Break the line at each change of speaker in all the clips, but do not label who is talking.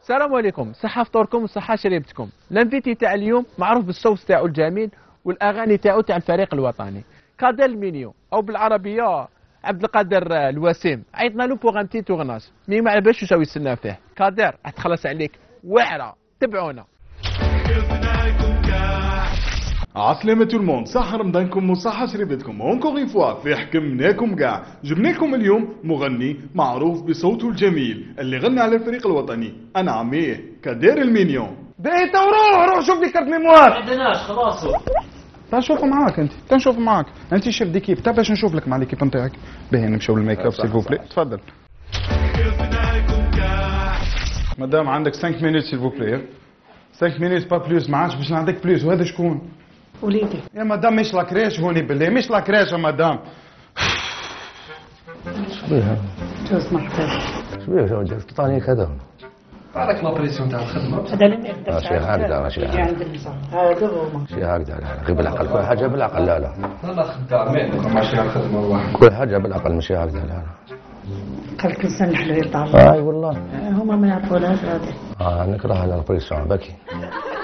السلام عليكم، صحة فطوركم وصحة شريبتكم. الانفيتي تاع اليوم معروف بالصوت تاعو الجميل والاغاني تاعو تاع الفريق الوطني، كادر المينيو او بالعربية عبد القادر الوسيم. عيطنا له بوغ ان تي تورناج، مي ما عرفش واش يستنى فيه. كادر راح تخلص عليك واعرة، تبعونا.
عسلامة تو الموند، صحة رمضانكم وصحة شريبتكم. اونكور اون فوا في حكمناكم كاع. جبنا لكم اليوم مغني معروف بصوته الجميل اللي غنى على الفريق الوطني، انا عميه كادر المينيون.
بيت روح شوف لي كارت ميموار.
ما عندناش خلاص.
تنشوفوا معاك تنشوف معاك انت شيف ديكيب. تا باش نشوف لك مع ليكيب نتاعك. باهي نمشيو للميك اب سيل فوبلي. تفضل مدام، عندك 5 مينوت سيل فوبلي. 5 مينوت با بلوس، ما عادش باش نعطيك بلوس. وهذا شكون؟
وليدي.
يا مدام مش لاكريش هوني بالله، مش لاكريش يا مدام.
شبيها؟
جوز مرحبا.
شبيها شو جالس تطاني كذا؟
هذاك لابريسيون تاع الخدمه.
هذا اللي ما يقدرش.
شي هكذا ماشي
اللي عند النساء هذا هما.
شي هكذا، لا غير بالعقل، كل حاجة بالعقل. لا
لا خدامين ماشي على الخدمه واحد.
كل حاجة بالعقل ماشي هكذا. لا
قال لك الانسان الحلو يطلع.
اي والله
هما ما يعرفوناش هذا.
نكره هذا البريسيون بكي.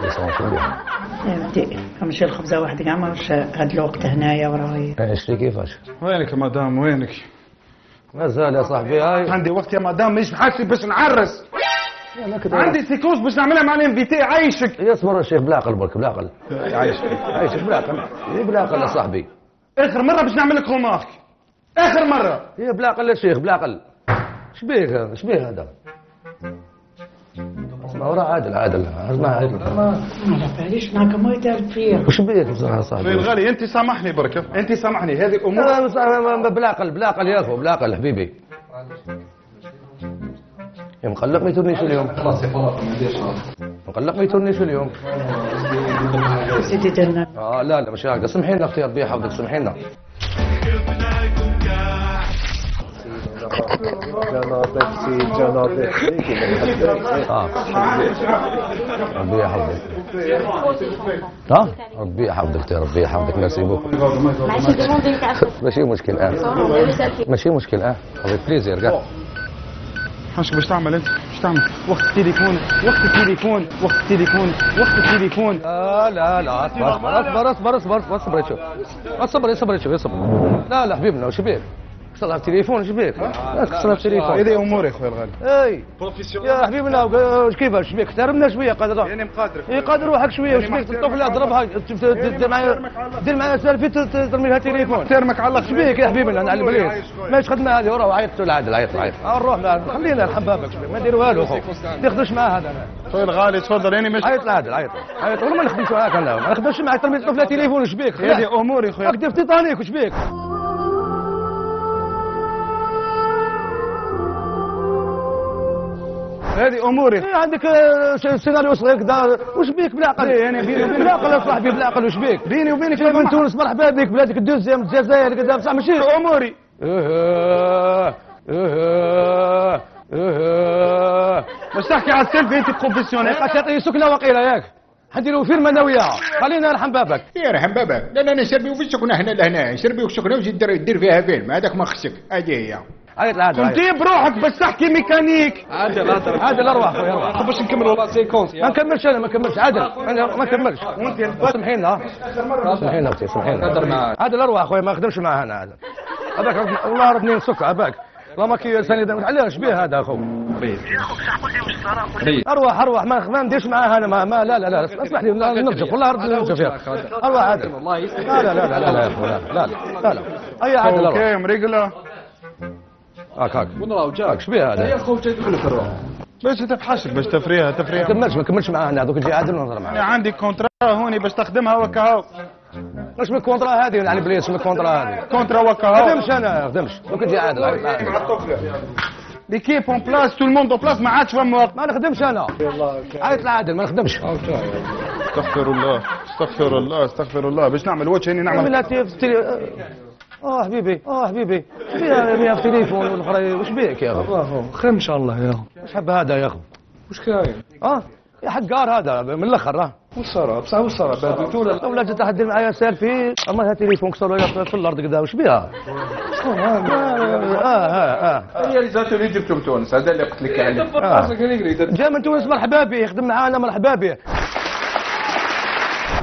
بريسيون شو بيها؟
يا ودي نمشي الخبزه واحد كاع ماش هاد الوقت هنايا وراهي.
اشتري كيفاش؟
وينك يا مدام وينك؟
مازال يا صاحبي. هاي
عندي وقت يا مدام، مش حاسي باش نعرس. عندي سيكونس باش نعملها مع الانفيتي. عايشك
يصبر الشيخ بالعقل برك بالعقل. عايشك بالعقل. ايه بالعقل يا صاحبي.
اخر مره باش نعمل لك رومارك، اخر مره.
ايه بالعقل يا شيخ بالعقل. شبيه هذا؟ اسمع وراه عادل اسمع عادل.
ما باليش معك ما يدار فيا.
وش بيك بصراحه صاحبي؟
في الغالي انت سامحني برك، انت سامحني. هذه الامور
بالعقل يا اخو، بالعقل حبيبي. يا مقلق ما يتونيش اليوم.
خلاص ما نديرش.
مقلق ما يتونيش اليوم.
سيدي درنا.
لا مش هكذا. سمحي لنا اختي ربي يحفظك، سمحي لنا. جنابك ربي يحفظك. ربي يحفظك ربي يحفظك. ميرسي بوكو. ماشي مشكل هذا بليزير كاع.
حاش باش تعمل انت؟ باش تعمل وقت التليفون.
لا اصبر شوف. لا حبيبنا وش بيك؟ كسر التليفون. ايش بيك؟ كسر التليفون.
هذه اموري اخويا الغالي.
اي يا حبيبنا واش كيفاش بيك؟ احترمنا شويه قادر.
يعني مقادرك.
اي قادر روحك شويه. واش بيك تطفل اضربها دير معايا سيلفي ترمي لها التليفون.
ترمك على الله.
ايش بيك يا حبيبنا على البليد؟ ماش خدمه هذه. وراه عيط العادل عيط. نروح خلينا نحبابك ما ندير والو خو. ما تاخذوش معاه هذا.
اخويا الغالي تفضل. يعني مش
عيط العادل عيط والله ما نخدمش معاك انا. ما نخدمش معاك ترمي الطفله تليفون. ايش بيك؟
هذه اموري خويا.
اكتب تيتانيك. ايش بيك؟
هذه اموري.
عندك سيناريو صغير كذا. واش بيك بالعقل؟
يعني بيني وبينك
بالعقل يا صاحبي بالعقل. واش بيك؟
بيني وبينك
كيف من تونس مرحبا بك. بلادك الدوزيام الجزائر كذا بصح ماشي
اموري. باش تحكي على السيلفي انت بروفيسيونيل.
تعطي سكنه وقيله ياك. حنديروا فيرما انا وياها. خلينا نرحم بابك.
يرحم بابك. لا نشربيو في السكنه هنا لهنا. نشربيو في السكنه وزيد دير فيها فيلم. هذاك ما خصك. هذه هي.
كنت بروحك باش تحكي ميكانيك.
عادل اروح خويا اروح.
باش نكملوا لا سيكونس.
ما نكملش عادل. ما نكملش. سمحي لنا اختي سمحي لنا. عادل اروح خويا ما نخدمش معاه انا. هذاك والله ربني نسك عباك. والله ما كي سند علاش بيه هذا اخو. اروح ما نديرش معاه انا. ما لا اسمح لي نرجف والله نرجف يا اروح عادل. لا يا اخو لا اي عادل اروح.
اوكي مريقله.
هاك ونراو جاك. اش بيه هذا؟
يا خو تدخل في الروح.
باش تفحشك باش تفريها.
ما نكملش معاه انا. دوك تجي عادل ونهضر معاه.
انا عندي كونترا هوني باش تخدمها وكهو.
واش من الكونترا هذه على بليس؟ من الكونترا هذه
كونترا وكهو.
ما نخدمش انا. دوك تجي عادل.
ليكيب اون بلاس. تو الموند اون بلاس. ما عادش فما وقت.
ما نخدمش انا. عيط العادل ما نخدمش.
استغفر الله باش نعمل وجه هاني نعمل.
حبيبي فيها في التليفون والاخرى. واش بيك يا اخو؟
خير ان شاء الله يا اخو.
واش حب هذا يا اخو؟
واش كاين؟
يا حقار هذا من الاخر.
والصرا بصح والصرا بهدلتو ولا
ولا جات تحدي معايا سيلفي اما هذا تليفون كسروا في الارض كذا واش بها؟ شكون
هي اللي جات اللي جبتو من تونس هذا اللي قلت لك عليه.
جا من تونس مرحبا به يخدم معانا مرحبا به.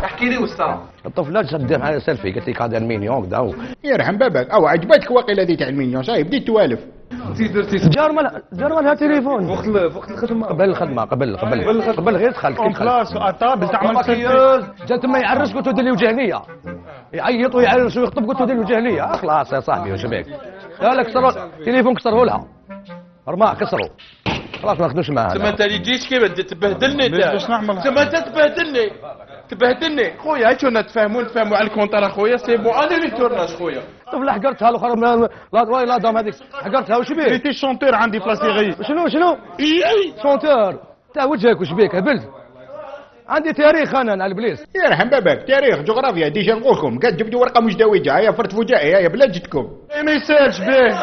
احكي لي والصرا.
الطفله شد معايا سيلفي قالت لي كادر مينيون كذا
يرحم بابك او عجبتك واقيلا هذه تاع المليون صاي بديت توالف.
جار مالها تليفون
وقت الخدمه
قبل غير دخلت كي
خلاص طابل تعمل
مكياج جا تما يعرس قلت له دير لي وجهنيه يعيط ويعرس ويخطب قلت له دير لي وجهنيه خلاص يا صاحبي واش بك لا لا كسروا التليفون كسروا لها رماح كسروا خلاص ما نخدمش معاها
تما انت اللي تجيش كيف تبهدلني
باش نعمل
تما انت تبهدلني خويا هاي كنا نتفاهموا على الكونتر خويا سي بون انا اللي تورناش خويا.
طفله حقرتها الاخر لا دام هذيك حقرتها واش بيه؟
ريتي شونتور عندي بلاصيغي.
شنو؟ شونتور تاع وجهك واش بيك هبلت؟ عندي تاريخ انا على البليس.
يرحم بابك تاريخ جغرافيا ديجا نقول لكم قد جبدوا ورقه مزدوجه هيا فرت فجائي هيا بلا جدكم.
ما يسالش به.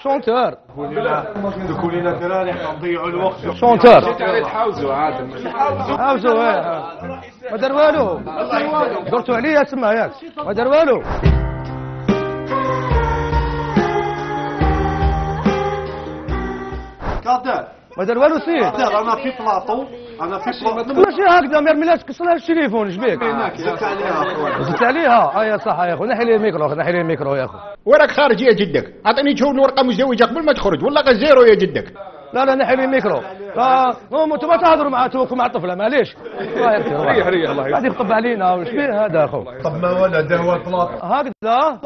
شونتور
دوكو لينا الدراري حنا نضيعوا الوقت.
شونتور
تحاوزوا عاد
حاوزوا ما دار والو درتوا عليا تما ياك ما دار والو. ما دار والو سير
انا في بلاطو
ماشي هكذا ما يرميلهاش كسرها التليفون اش بيك؟
زدت عليها اخويا
زدت عليها يا صح يا اخو نحي لي الميكرو يا اخو.
وراك خارج يا جدك اعطيني تشوف الورقه مزدوجه قبل ما تخرج ولا غير زيرو يا جدك.
لا نحي لي الميكرو لا انتم ما تهضروا مع توك مع الطفله معليش ريح الله قاعد يخطب علينا واش بيه هذا اخو.
طب ما ولا دا هو البلاطو
هكذا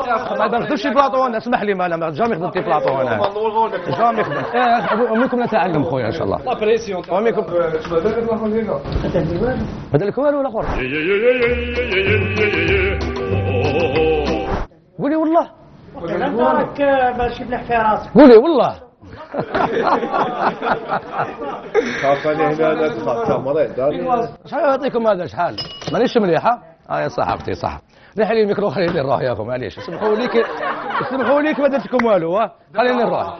ما نخدمش بلاطو انا اسمح لي ما جامي خدمت بلاطو انا جامي خدمت منكم نتعلم خويا ان شاء الله.
لا بريسيون
ومنكم بدل لك والو الاخر قولي والله
راك باش يبلح في راسك.
قولي والله
خافني هنا لا تخاف مريض
شحال يعطيكم هذا شحال مانيش مليحه يا صح اختي صح نحي لي الميكرو خليني نروح يا اخو معليش سمحوا لي ما درتكم والو خليني نروح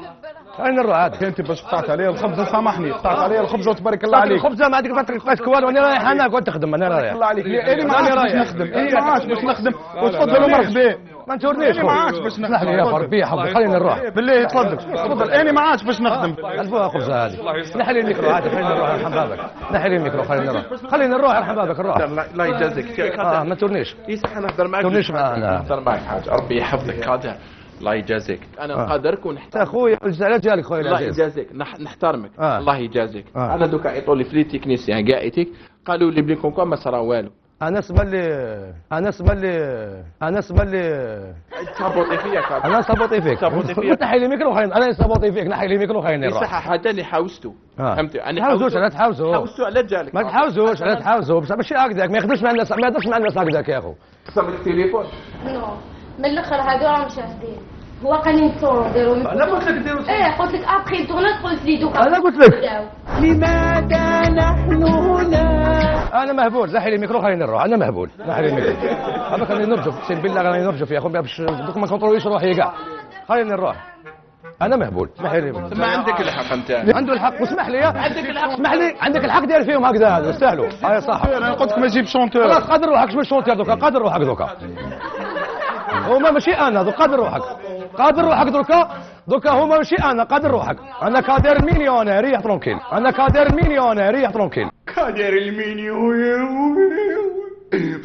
عاد.
انت باش قطعت عليا الخبز سامحني قطعت عليا الخبز وتبارك الله عليك.
الخبزه ما عندك فاتك والو انا رايح انا قلت تخدم انا رايح.
الله عليك انا ما عادش باش نخدم انا ما عادش باش نخدم وتفضلوا مرحبا.
ما نتورنيش
انا ما عادش باش نخدم.
اسمح لي يا اخو ربي يحفظك خليني نروح
بالله تفضل انا ما عادش باش نخدم.
الفوها خبزه هذه نحي لي الميكرو عاد خليني نروح يرحم بابك نحي لي الميكرو خليني نروح يرحم بابك نروح.
لا يجازيك
ما تورنيش
يصح نهضر معك
تورنيش معانا
نهضر معك حاجه ربي يحفظك قادر الله يجازيك انا نقدرك ونحترمك
اخويا على جالك خويا
الله يجازيك نحترمك الله يجازيك. انا دوك عيطوا لي في لي تكنيسيان كاع ايتيك قالوا لي بلي كونكم ما صرا والو.
انا اسمع لي
صابوطي فيك
انا صابوطي فيك نحي لي الميكرو خليني انا صابوطي فيك نحي لي الميكرو خليني نروح.
صح هذا اللي حاوزته فهمتي انا
حاوزوا
على جالك
ما تحاوزوش بصح ماشي هكذاك ما يخدمش مع الناس ما يهضرش مع الناس هكذاك يا اخو.
قسم التليفون
نو من الاخر هادو راهم شاهدين هو قال لي نصوروا نديروا
انا قلت لك ديروا
قلت لك ابخي التورنات قلت لي دوكا
انا قلت لك لماذا نحن هنا انا مهبول نحي لي الميكرو خليني نروح انا مهبول نحي لي الميكرو هذاك راني نرجف اقسم بالله راني نرجف يا اخو باش دوك ما كونتروليش روحي كاع خليني نروح انا مهبول اسمح لي
ما عندك الحق انت
عنده الحق واسمح لي عندك الحق اسمح لي عندك الحق دير فيهم هكذا هذا يستاهلوا هاي صح
انا قلت لك ما تجيب شونتور
خلاص قادر روحك شويه شونتور دوكا قادر روحك دوكا هما ماشي انا قادر روحك دوكا هما ماشي انا قادر روحك انا كادر مليونير ريح ترونكيل انا كادر مليونير ريح ترونكيل
كادر المليونير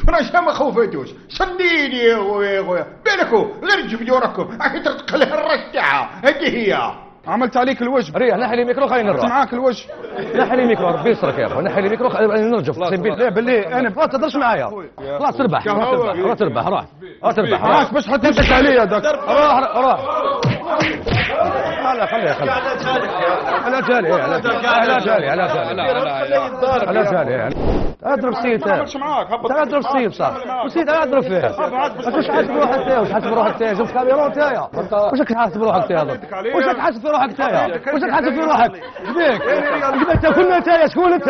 فراش ما خوفتوش صديني يا خويا بالكو غير تجبدوا راكم راكي ترتقل الرشعه هذه هي
عملت عليك الوجه.
ريح نحي لي الميكرو خليني نروح
معاك الوجه.
نحي لي الميكرو ربي يسترك يا اخو نحي لي الميكرو نرجف بالله انا ما تهضرش معايا خلاص تربح روح
معاك باش حتمسك عليا داك
روح خليه على جالي اضرب سيد اضرب سيد صح وسيد اضرب فيه واش حاسب روحك انت جبت كاميرا انت واش حاسب روحك انت واش حاسب في روحك شبيك جبت كل انت شكون انت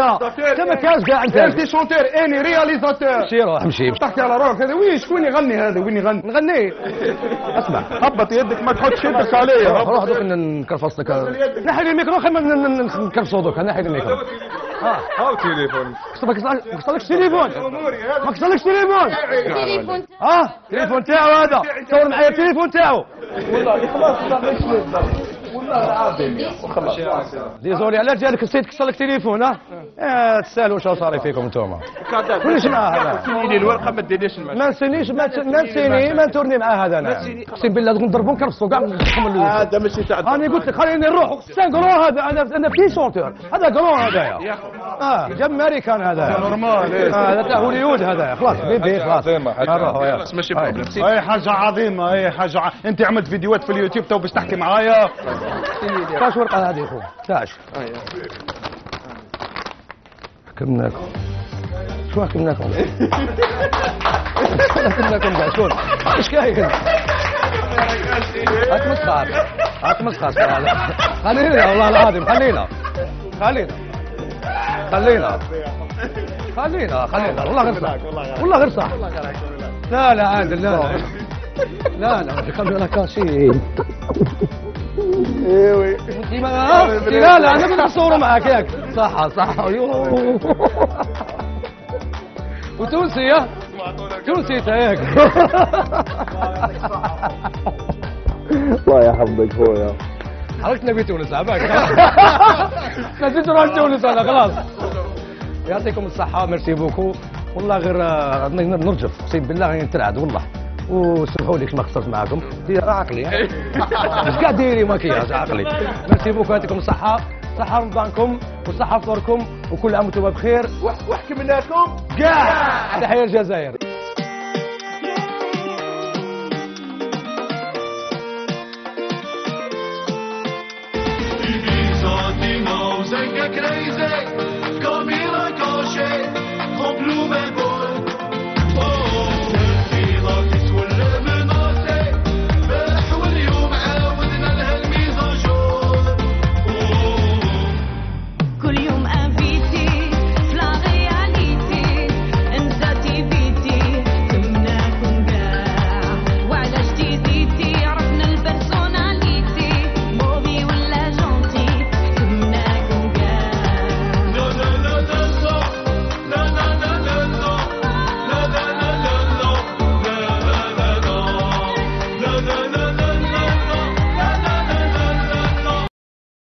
ما كاش كاع انت
شونتور اني رياليزاتور
امشي
تحكي على روحك هذا وين شكون يغني هذا وين يغني
نغني اسمع
هبط يدك ما تحطش يدك عليا
روح دوك نكرفص لك نحي لي الميكرو خلينا نكرفصو دوك نحي لي الميكرو
هاو تليفون.
ما كسرلكش تليفون. ما كسرلكش تليفون.
التليفون
التليفون تاعو هذا. تصور معايا التليفون تاعو.
والله العظيم خلاص.
ديزولي على جالك السيد كسرلك تليفون ها؟ تسالوا شو صار فيكم انتوما. كلش مع هذا.
سيني الورقه ما ديريش
ما نسينيش ما نسيني ما نتورني مع هذا انا. اقسم بالله نضربو نكرفسو كاع
هذا ماشي تاع
انا قلت لك خليني نروح سان قرون هذا انا في شونتور هذا قرون هذايا جاب امريكان هذا
نورمال.
هذا تاع هوليود هذا خلاص بيبي خلاص نروحوا يلا.
ماشي بروبليم.
هاي حاجه عظيمه، هاي حاجه انت عملت فيديوهات في اليوتيوب تو باش تحكي معايا.
تاش ورقه هذه اخو تاش حكمناكم شو حكمناكم حكمناكم كاع شكون ايش كاين هات مسخر خلينا والله العظيم خلينا والله غير صح والله غير صح لا عادل لا خلينا كاشين ايوه لا انا بدي اصور معك ياك صح وتونسي تونسي ياك
الله يحفظك خويا.
حركت نبي تونس عباك نسيت نروح تونس انا خلاص. يعطيكم الصحة ميرسي بوكو والله غير نرجف اقسم بالله غير نترعد والله وسمحوا لي ما قصرت معاكم عقلي مش قاعد ديري مكياج عقلي. ميرسي بوكو يعطيكم الصحة صحة رمضانكم وصحة فطوركم وكل عام وانتم بخير
وحكمناكم
كاع. تحية الجزائر.